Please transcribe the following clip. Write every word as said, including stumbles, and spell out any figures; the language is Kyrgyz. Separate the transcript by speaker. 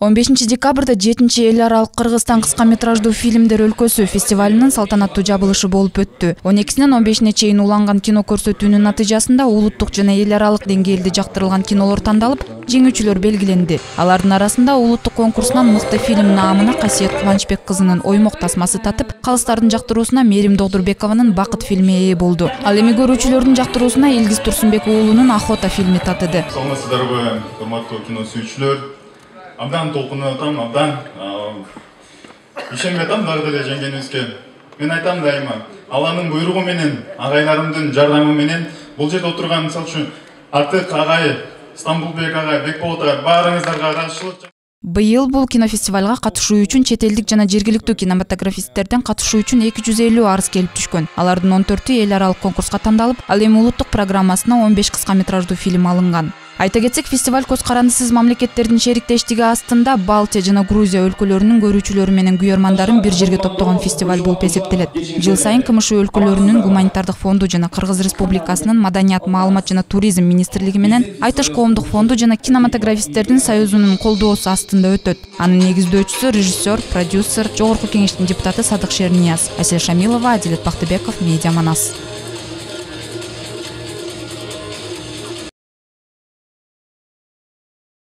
Speaker 1: он бешинчи декабрда жетинчи эл аралык Кыргызстан кыска метраждуу фильмдер өлкөсү фестивалынын салтанаттуу жабылышы болуп өттү. он экисинен он бешине чейин уланган кино көрсөтүүнүн натыйжасында улуттук жана эл аралык деңгээлде жактырылган кинолор тандалып, жеңүүчүлөр белгиленди. Алардын арасында улуттук конкурсунан мыкты фильм наамына Касиет Кубанычбек кызынын Оймок тасмасы татып, калыстардын жактыруусуна Мерим Догдурбекованын Бакыт фильми ээ болду. Ал эми көрүүчүлөрдүн жактыруусуна Илгиз Турсунбек уулунун Охота фильми татыды.
Speaker 2: Саламатсыздарбы, урматтуу кино сүйүүчүлөр. Абдан толкунуп атам, абдан ишенбей атам дагы деле жеңгенибизге. Мен айтам дайыма, Алланын буйругу менен, агайларымдын жардамы менен бул жерде отурган мисалы үчүн Артык агай, Стамбулбек агай, Бекболот агай баарыңыздарга ыраазычылык.
Speaker 1: Быйыл бул кинофестивалга катышуу үчүн чет элдик жана жергиликтүү кинематографисттерден катышуу үчүн эки жүз элүү арыз келип түшкөн. Алардын он төртү эл аралык конкурска тандалып, ал эми улуттук программасына он беш кыска метраждуу фильм алынган. Айта кетсек, фестиваль көз карандысыз мамлекеттердин шериктештиги астында Балтия жана Грузия өлкөлөрүнүн көрүүчүлөрү менен күйөрмандарын бир жерге топтогон фестиваль болуп эсептелет. Жыл сайын КМШ өлкөлөрүнүн гуманитардык фонду жана Кыргыз Республикасынын Маданият, маалымат жана туризм министрлиги менен Айтыш коомдук фонду жана кинематографисттердин союзунун колдоосу астында өтөт. Анын негиздөөчүсү режиссер, продюсер, жогорку кеңештин депутаты Садык Шернияз. Асель Шамилова, Адилет Бактыбеков, Медиа Манас.